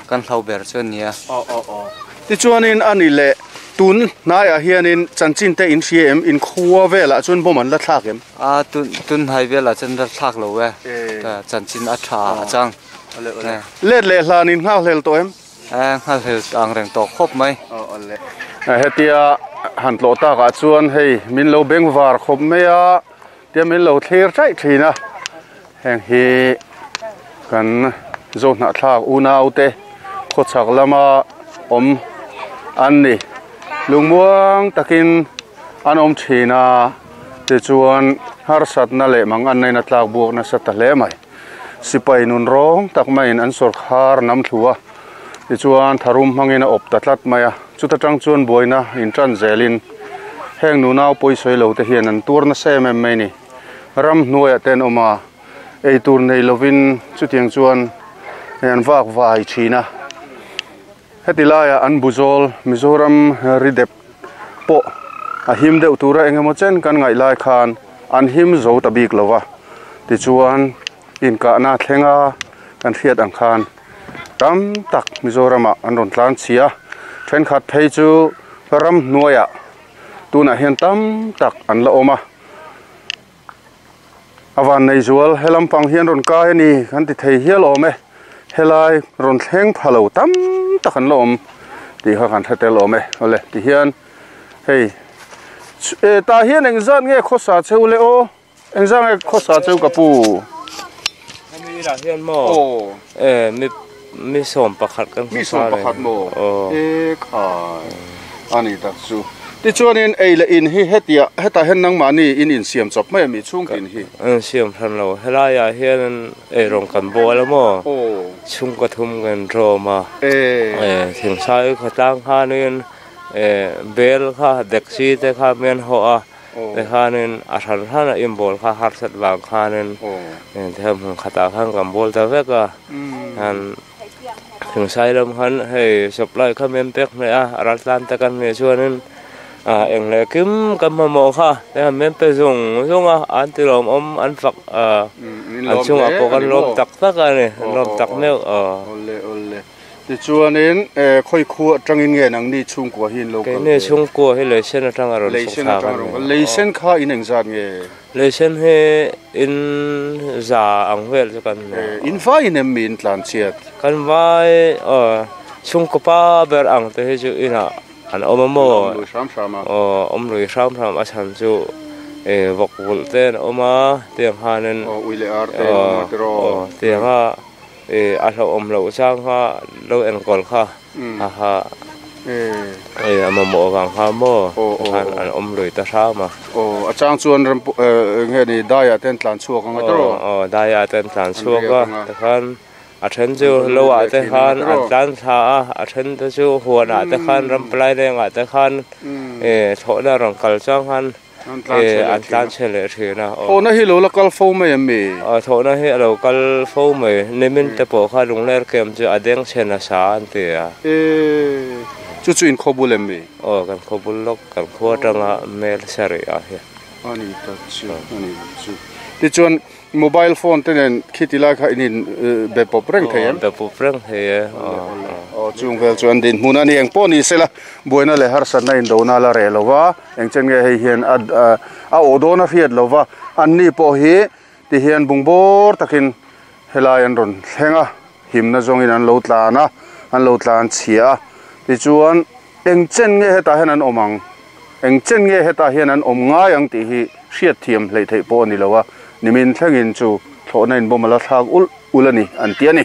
kan hlo ber chu ania. O o o ti chuanin ani le tun hnaiah hianin chanchin te in hria em in khua velah chuan bom an la thlak em? A tun tun hnai velah chuan la thlak lo e chanchin a tha a chang. Let le hlanin nghal hlel to em? E nghal hlel ang reng tawk khawp mai. Hetia han tlo takah chuan hei min lo beng var khawp mai a tia min lo thlir chaih thin a. Heng hi kan zo hnah thlak unau te khawchhak lama awm an ni. Lungmuang takin an awm thin a ti chuan harsatna leh mang an neina tlak buak nasa ta hle mai. Sipai nun rawng tak maiin an sawrkhar nam thlua ti chuan tharum hmangin a awp ta tlat mai a. Chuta tang chuan buaina in tan zelin heng nunau pawisawi lo te hian an tur nasa em em mai ni. Ram hnuaiah ten awm a eitur nei lovin chutiang chuan an vak vai thin a. Heti laiah an buzawl Mizoram ridep pawh a him deuh tura engemaw chen kan ngaih lai khan an him zo ta bik lova. Ti chuan inkahna thlenga kan hriat ang khan tam tak Mizoramah an rawn tlan chhia. Thenkhat phei chu ram hnuaiah tunah hian tam tak an la awm a. Awan nei zual helam pang hian rawn kai ani kan ti thei hial awm e. Helai rawn thleng phalo tam tak an la awm ti kha kan hretel awm e. Ole ti hian hei e ta hian engzat nge khawsa cheu le aw? Engzat nge khawsa cheu ka pu? Hemi lah hian mo e mi mi sawm pakhat kan mi sawm pakhat mo e kha ani tak chu. Ti chuanin ei le in hi hetia heta hen nang mani in in siam chawp mai mi chung tin hi an siam than lo helaiah hian ei rawng kan bawl a maw chhung ka thum kan rawm a e e thingsai khawtlang khanin e bel kha dekchi te kha men ho a te khanin a hran hran a in bawl kha harsat wang khanin them hmun khatah khan kan bawl ta vek a han thingsai lam khan hei supply kha men pek hmeh a a ral tlan te kan hmeh chuanin a eng le kim kan mamawh kha te han men pe zung zung a an ti lawm awm an fak a an chungah pawh kan lawm tak tak a ni an lawm tak meuh a. Ole ole ti chuanin e khoi khu atangin nge nang ni chhungkua hi in lo kal keini chhungkua hi leisen atanga rawn leisen atanga rawn leisen kha in engzat nge? Leisen hi in za ang vel chu kan in vai in em mi in tlan chiat kan vai chhungkaw pa ber ang te hi chu inah an awm a maw awm lui hram hram a chhan chu e vawk vulh te an awm a tiang khanin ui leh ar te an awm a tiraw tianga e a hlauhawm loh chang kha lo enkawl kha a ha Eh ama mo wang ha mo khan an om lui ta tha ma o a chang chuan ram nge ni daya ten tlan chuak anga tro o daya ten tlan chuak a ta khan a then chu lowa te khan an tlan tha a a then te chu huana te khan ram plai lenga te khan e thona rong kal chang han an tlan chele thina o na hi lo la kal fo mai mi a thona hi lo kal fo mai nemin te po kha lungler kem chu adeng chena sa an te a e chu chu in khobul em mi o kan khobul lok kan khuwa tanga mel sari a hi ani ta chu ani chu ti chuan mobile phone te nen khitila kha inin be pop reng thei em be pop reng thei e o chung vel chuan din hmun ani eng pawh ni sela buaina le har san na in do na la re lova eng chen nge hei hian a a o do na hriat lova an ni pawh hi ti hian bungbor takin helai an rawn thlenga himna zawngin an lo tlan a an lo tlan chhia ti chuan eng chen nge hetah hian an awm ang eng chen nge hetah hian an awm ngai ang tih hi hriat thiam hlei theih pawh ani lo a nimin thlengin chu thlawhna in bawm ala thlak ul ul ani an ti ani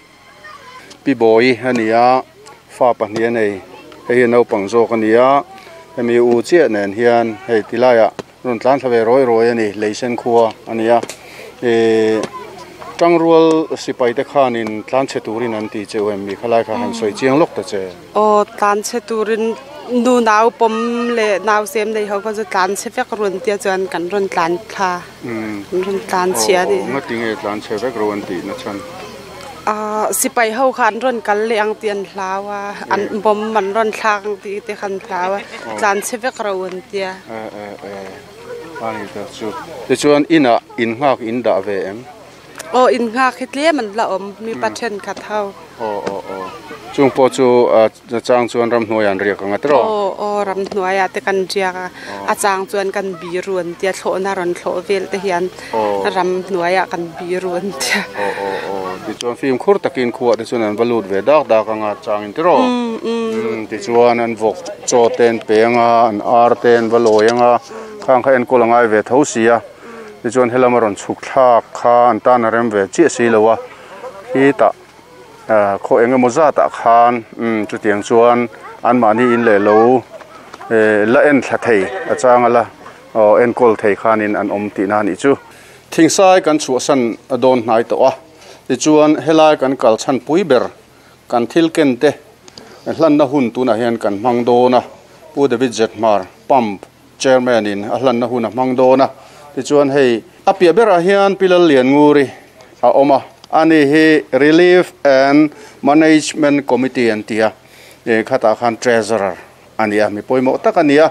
pi boi ania fa pahnih anei hei hi naupang zawk ania hemi u chiah nen hian hei tilaiah rawn tlan thla ve rawi rawi ani leisen khua ania eh tangrual sipai te khanin tlan che turin an ti cheu em mi khalai kha han soi chiang lok ta che o tlan che turin nu nau pom le nau sem nei ho ko chu tlan che vek run tia chuan kan ron tlan thla um ron tlan chia ni nga ti nge tlan che vek ron ti na chan a sipai ho khan ron kal le ang tian hlawa an bom man ron thlang ti te khan hlawa tlan che vek ron tia e e e ani ta chu ti chuan ina in ngak in da ve em o in ngak hitle man la om mi pathen khat ho o o o chung po chu a chang chuan ram hnuai an riak anga tro o o ram hnuai a te kan riak a chang chuan kan bi ruan tia thlawhna ron thlawh vel te hian ram hnuai a kan bi ruan tia o o o ti chuan fim khur takin khuwa te chuan an valut ve dak dak anga chang in tro ti chuan an vok chaw ten penga an ar ten valoi anga khang kha en kol angai ve tho sia ti chuan helama ron chhuk thlak kha an tan a rem ve chi si lowa hi ta kho enge moza ta khan um chu tiang chuan an mani in le lo la en thla thei a changa la o en kol thei khanin an om ti na ni chu thingsai kan chu san adon hnai to a ti chuan helai kan kal chan pui ber kan thil ken te hlan na hun tuna hian kan mang dona pu David Zetmar pump chairman in a hlan na hun a mang dona ti chuan hei a pia berah hian pilal lian nguri a oma ani hi Relief and Management Committee an tia e khata khan treasurer ania mi poimo tak ania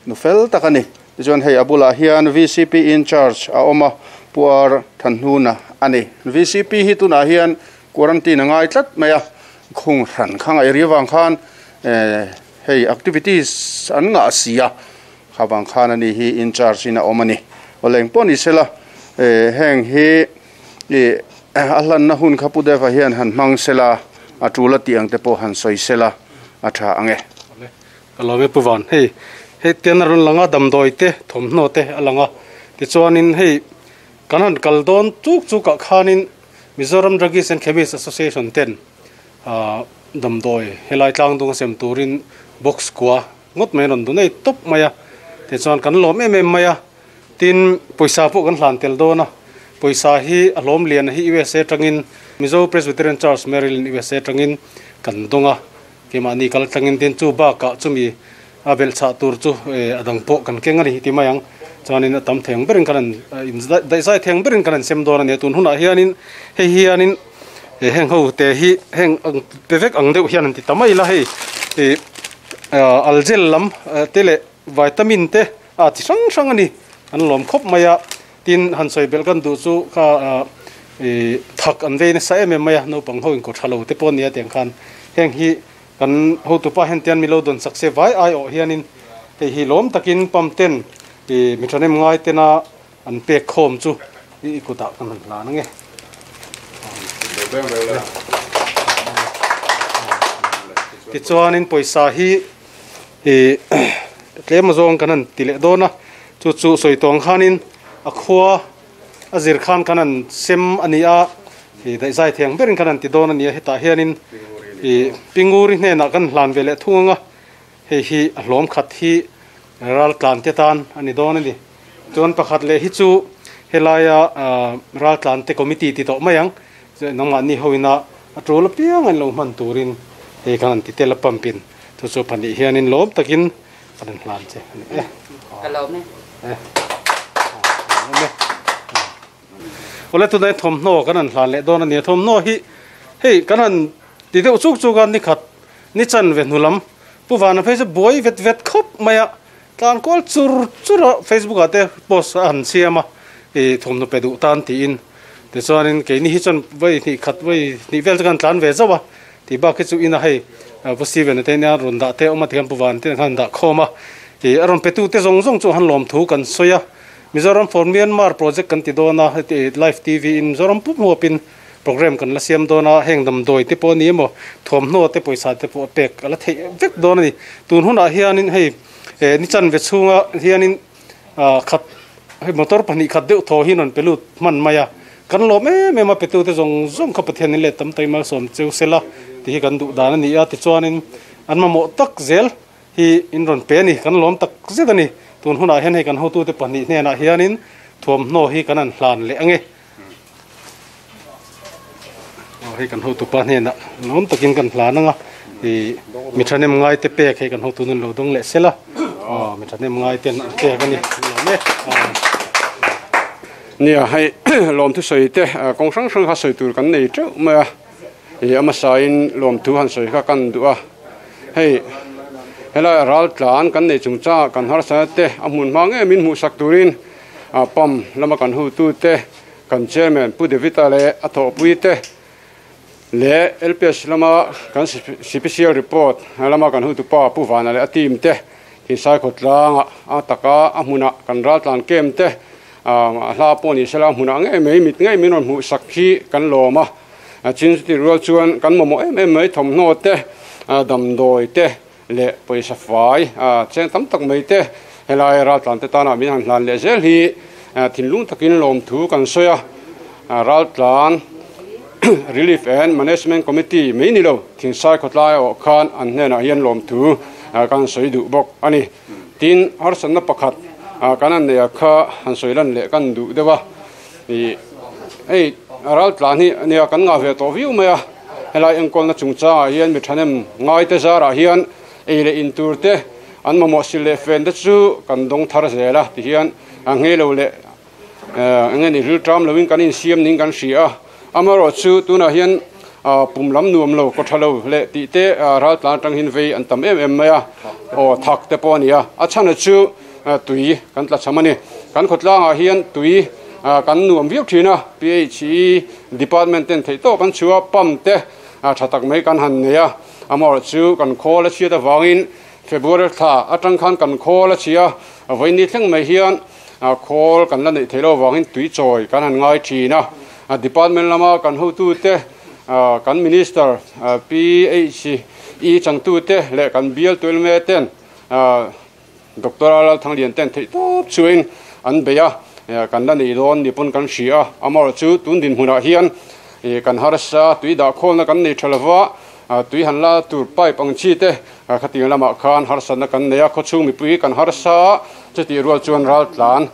nu fel tak ani ti chuan hei abula hian V C P in charge a oma puar thanhuna ani V C P hi tuna hian quarantine ngai tlat maya khung ran khang ai riwang khan e hei activities an nga sia khawang khan ani hi in charge ina omani oleng poni sela e heng hi e ahlan na hun khapu deva hian han mang sela atula tiang te po han soi sela atha ange kalome puwan hei hei ten ron langa damdoi te thomhno te alanga ti chuanin hei kanan kaldon chuk chuk ka khanin Mizoram Druggist and Chemist Association ten a damdoi helai tlang dung sem turin box kwa ngot mai ron dunei top maya ti chuan kan lom em em maya tin poisa po kan hlan tel dona poisa hi alom lian hi U S A tangin Mizo Presbyterian Church Maryland U S A tangin kan donga kema ni kal tangin tin chu ba ka chumi abel cha tur chu adang po kan kenga ni ti mayang chuanin tam theng berin kan in dai sai theng berin kan sem dona ne tun huna hianin hei hianin heng ho te hi heng pevek ang deuh hian ti tamai la hei e algel lam tele vitamin te a chi sang sang ani an lom khop maya tin han soi bel kan du chu kha e thak an ve na sa em em maya no pang ho in ko thalo te pon nia teng khan heng hi kan ho tu pa hen tian mi lo don sak se vai ai o hianin te hi lom takin pam ten e mithanem ngai tena an pe khom chu i ku ta kan la na nge ti chuanin poisa hi e tlem zawng kan an ti leh dawn a chu chu sawi tawng khanin a khua a zir khan kan an sem ani a e dai zai theng berin kan an ti dawn ani a hetah hianin e pinguri hnenah kan hlan ve leh thung anga Hei hi a hlawm khat hi ral tlan te tan ani dawn ani. Chuan pakhat leh hi chu helaia ral tlan te committee ti tawh mai ang. Nangmah ni hoina a tul piang an lo hman turin hei khan an ti tel a pumpin chu chu pahnih hianin lawm takin kan an hlan che ani e. Ka lawm e. E. Ole tu dai thom no kan an hlan le dawn ani. Thom no hi hei kan an ti deuh chuk chuk an ni khat ni chan ve hnulam pu vana phei chu buai vet vet khawp mai a tlan kual chur chur a Facebook ah te post a han siam a e thom no pe duh tan tiin ti chuanin keini hi chuan vai hnih khat vai hnih vel chu kan tlan ve zauh a ti bak hi chu ina hei pu Steven te nia rawn dah te awm a tikhan pu van te khan dah khawm a ti a rawn pe tu te zawng zawng chu han lawm thu kan sawi a. Mizoram for Myanmar project kan ti dawn a heti live T V in Mizoram pum huapin program kan la siam dawn a heng dam doi te pawh ni emaw thawmhnaw te pawisa te pawh pek a la theih vek dawn ani. Tun hunah hianin hei ni chan ve chhunga hianin khat hei motor pahnih khat deuh thaw hi rawn pe lut hman mai a kan lawm em em a pe tu te zawng zawng kha Pathian in leh tam taima sawm cheu sela ti hi kan duh dan ani a. Tichuanin an mamawh tak zel hi in rawn pe ani kan lawm tak zet ani. Tun hunah hian hei kan hotu te pahnih hnenah hianin thuamhnaw hi kan an hlan leh ange. Hei kan hotu pa hnenah lawm takin kan hlan anga i mi thanem ngai te pek hei kan hotu nun lo dawng leh sela mi thanem ngai ten an pek ani lawm e. Nia hei lawm thu sawi te kawng hrang hrang kha sawi tur kan nei teuh mai a i ama sain lawm thu han sawi kha kan duh a. Hei helai ral tlan kan nei chung cha kan har sa te a hmun hma nge min hmuh sak turin a pam lama kan hu tu te kan chairman pu Devita le a thaw pui te le L P S lama kan C P C L report lama kan hu tu pa pu vana le a team te thi sai khot langa a taka a hmuna kan ral tlan kem te a hla pawh ni sela hmuna nge mei mit nge min rawn hmuh sak hi kan lawm a. Chin ti rual chuan kan mamawh em em mai thawmhnaw te dam dawi te le pawisa fai a cheng tam tak mai te helai ral tlan te tana min han hlan leh zel hi thinlung takin lawm thu kan sawi a. Ral tlan Relief and Management Committee mai ni lo thingsai khawtlai awh khan an hnenah hian lawm thu kan sawi duh bawk ani. Tin harsanna pakhat kan an nei a kha han sawi lan leh kan duh deuh a. Hei ral tlan hi ania kan ngah ve tawh viau mai a helai enkawlna chungchangah hian mi thanem ngai te zarah hian ei leh in tur te an mamawh sil leh fen te chu kan dawng thar zel a ti hian a nge lo leh enge ni ril tram loin kan in siam ning kan hria a. Amarawh chu tunah hian pum lam nuam lo ko tha lo le ti te ral tlan tang hin vei an tam em em mai a aw thak te pawh ani a. A chhan chu tui kan tla cham ani kan khawtlangah hian tui kan nuam viau thin a P H E department ten thei tawp an chua pump te tha tak mai kan han nei a. Amarawh chu kan khawl a chhiat awangin February thla atang khan kan khawl a chhia a vaini thleng mai hian khawl kan la neih theilo awangin tui chawi kan han ngai thin a. Department lama kan hotu te kan minister P H E changtu te leh kan bial tuilme ten Doctor Lal Thanglian ten thei tawp chuin an bei a kan la nei dawn ni pawn kan hria a. Amarawh chu tun din hmunah hian kan harsa tui dah khawlna kan nei tha lova tui han la tur pipe ang chi te khatiang lamah khan harsanna kan nei a khawchhung mipui kan harsa chuti rual chuan ral tlan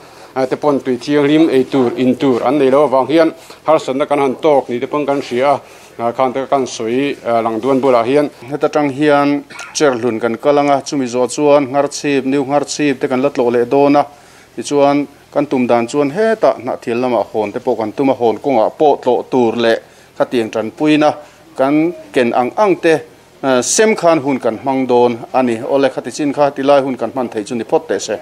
te pawn tui thianghlim ei tur in tur an nei lo awang hian harsanna kan han tawk ni te pawn kan hria a khan te kan sawi lang duan bulah hian heta tang hian cherhlun kan kalanga chumi zawh chuan ngar chhip new ngar chhip te kan la tlawh leh dawn a. Tichuan kan tum dan chuan heta hnah thil lamah hawn te pawh kan tum a hawn kawngah pawh tlawh tur leh khatiang tanpuina kan ken ang ang te sem khan hun kan hmang dawn ani. Ole khati chin kha tilai hun kan hman thei chu ni phawt teh se.